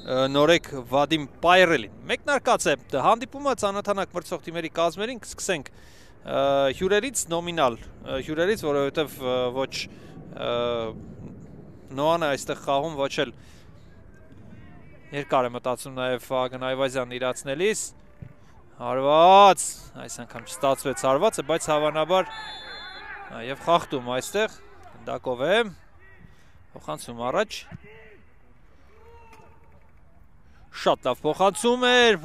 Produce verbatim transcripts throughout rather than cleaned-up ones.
նորեկ Վադիմ Պայրելին։ Մեկնարկած է հանդիպումը ծանոթանանք մրցող թիմերի կազմերին, կսկսենք հյուրերից նոմինալ հյուրերից, որովհետև ոչ Նոանը այստեղ խաղում, ոչ էլ երկար է մտածում նաև Վահագն Այվազյանն իրացնելիս։ Հարված, այս անգամ չստացվեց հարվածը, բայց հավանաբար եւ խախտում այստեղ Գնդակով է, փոխանցում առաջ։ Շատ լավ փոխանցում էր,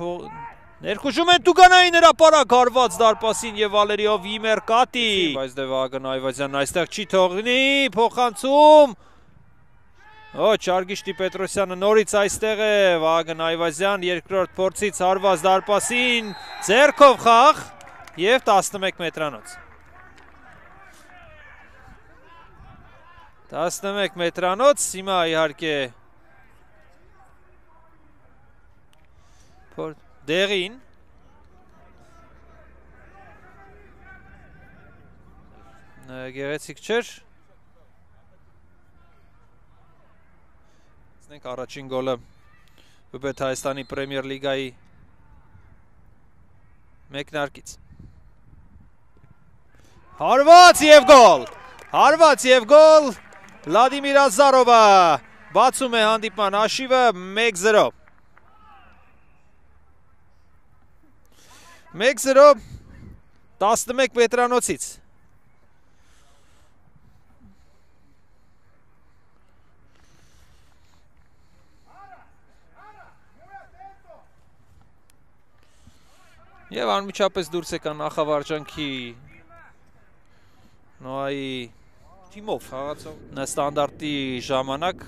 ներխուժում են Տուգանային հրապարակ, հարված դարպասին եւ Վալերիով Իմերկատի, բայց դե Վահագն Այվազյանն այստեղ չի թողնի, փոխանցում։ Օ, Չարգիշտի Պետրոսյանը նորից այստեղ է, Վահագն Այվազյան երկրորդ փորձից հարված դարպասին, ձեռքով խաղ եւ տասնմեկ մետրանոց։ տասնմեկ մետրանոց, հիմա իհարկե դեղին գեղեցիկ չէր։ Տեսնենք առաջին գոլը Բեբեթ Հայաստանի Պրեմիեր լիգայի մեկնարկից։ Հարված եւ գոլ։ Հարված եւ գոլ։ Վլադիմիր Ազարովը բացում է հանդիպման հաշիվը մեկ զրո։ մեկ զրո տասնմեկ մետրանոցից։ Եվ անմիջապես դուրս եկան նախավարջանքի Նոայի թիմով խաղացող ստանդարտի ժամանակ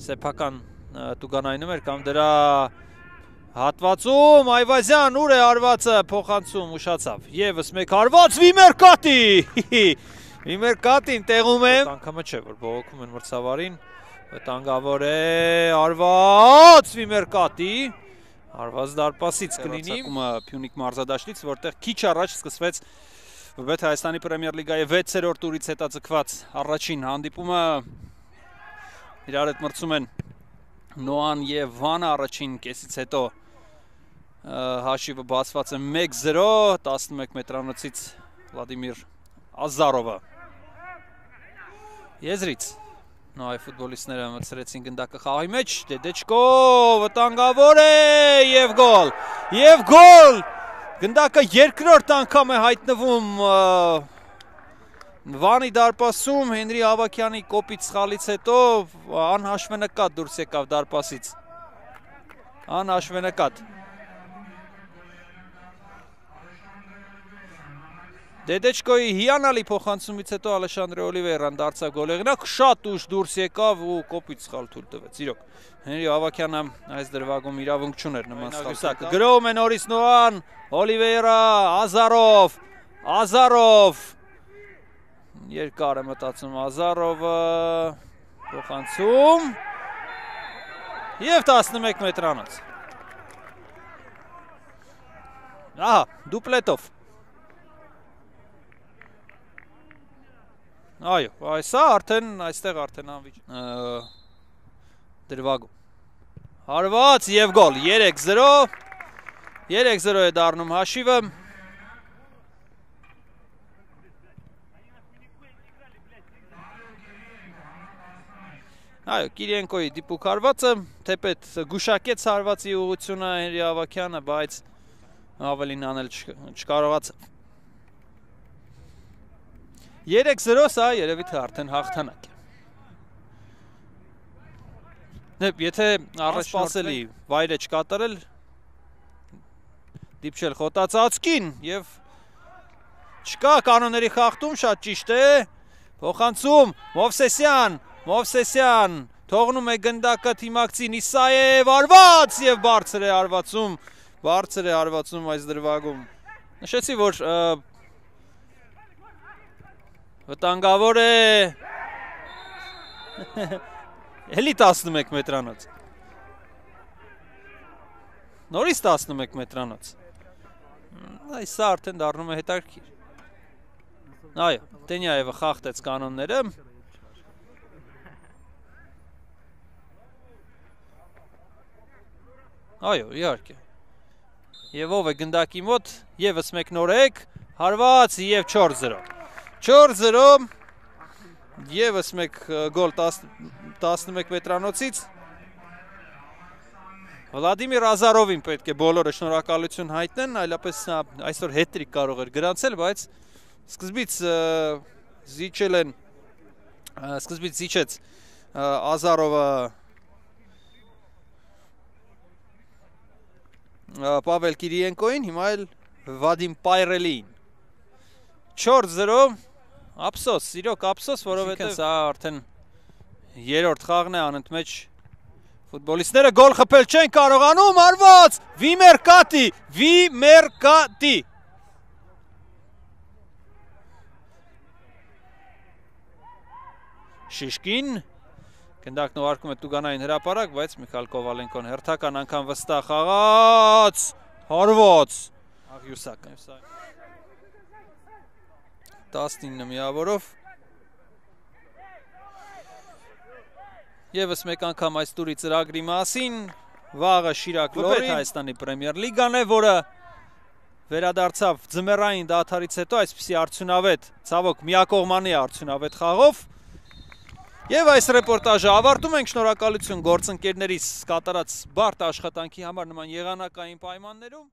սեփական Տուգանայինում էր կամ դրա հատվածում Այվազյան ուր է հարվածը փոխանցում ուշացավ եւս մեկ հարված Վիմերկատի Վիմերկատին տեղում է անգամը չէ որ բողոքում են մրցավարին վտանգավոր է հարված Վիմերկատի հարված դարպասից կլինի Փյունիկ մարզադաշտից որտեղ քիչ առաջ սկսվեց Բեբեթ Հայաստանի Պրեմիեր լիգայի վեցերորդ տուրից հետաձգված առաջին հանդիպումը իրար հետ մրցում են Նոան եւ Վանը առաջին կեսից հետո հաշիվը բացված է մեկ զրո տասնմեկ մետրանոցից Վլադիմիր Ազարովը եզրից Նոայի ֆուտբոլիստները մտցրեցին գնդակը խաղի մեջ Դեդեչկո վտանգավոր է եւ գոլ եւ գոլ գնդակը երկրորդ անգամ է հայտնվում Վանի դարպասում Հենրի Ավակյանի կոպիտ սխալից հետո անհաշվենկատ դուրս եկավ դարպասից անհաշվենկատ Դեդեչկոյի հիանալի փոխանցումից հետո Ալեշանդրե Օլիվեյրան դարձավ գոլեղնակ շատ ուշ դուրս եկավ ու կոպիտ սխալ թույլ տվեց իրոք Հենրի Ավակյանը այս դրվագում իրավունք չուներ նման սխալ գրոում է նորից Նոան Օլիվեյրա Ազարով Ազարով երկար է մտածում Ազարովը փոխանցում եւ տասնմեկ մետրանոց ահա դուպլետով Այո, այսա արդեն այստեղ արդեն անվիճ դրվագում հարված եւ գոլ երեք զրո երեք զրո է դառնում հաշիվը Այո, Կիրիենկոյի դիպուկ հարվածը թեպետ գուշակեց հարվածի ուղղությունը Հենրի Ավակյանը, բայց ավելին անել չկարողացավ երեք զրո սա երևի թե արդեն հաղթանակ է Եթե անսպասելի վայր է չկատարել դիպչել խոտածածկին եւ չկա կանոնների խախտում շատ ճիշտ է փոխանցում Մովսեսյան Մովսեսյան թողնում է գնդակը թիմակցին Իսաև հարված եւ բարձր է հարվածում բարձր է հարվածում այս դրվագում նշեցի որ վտանգավոր է Էլի տասնմեկ մետրանոց Նորից տասնմեկ մետրանոց Այսա արդեն դառնում է հետաքրքիր Այո, Տենյաևը խախտեց կանոնները Այո, իհարկե։ Եվ ով է գնդակի մոտ, ևս մեկ նորեկ, հարված և չորս զրո։ չորս զրո, ևս մեկ գոլ տասնմեկ մետրանոցից։ Վլադիմիր Ազարովին պետք է բոլորը շնորհակալություն հայտնեն, այլապես այսօր հետրիկ կարող էր գրանցել, բայց սկզբից զիջել են, սկզբից զիջեց Ազարովը Պավել Կիրիենկոին, հիմա էլ Վադիմ Պայրելին։ չորս զրո, ափսոս, իրոք ափսոս, որովհետև սա արդեն երրորդ խաղն է անընդմեջ ֆուտբոլիստները գոլ խփել չեն կարողանում, արված, Վիմեր Կատի, Վիմեր Կատի։ Շիշկին, գնդակն ուղարկում է Տուգանային հրապարակ, բայց Միքայել Կովալենկոն հերթական անգամ վստահ խաղաց, հարված, Աղյուսակը։ տասնինը միավորով։ Եվս մեկ անգամ այս տուրի ծրագրի մասին, վաղը Շիրակ Լորին, Հայաստանի պրեմիեր լիգան է, որը վերադարձավ ձմեռային դադարից հետո այսպիսի արդյունավետ, ցավոք միակողմանի արդյունավետ խաղով։ Եվ այս ռեպորտաժը ավարտում ենք, շնորհակալություն գործընկերներիս կատարած բարդ աշխատանքի համար նման եղանակային պայմաններում։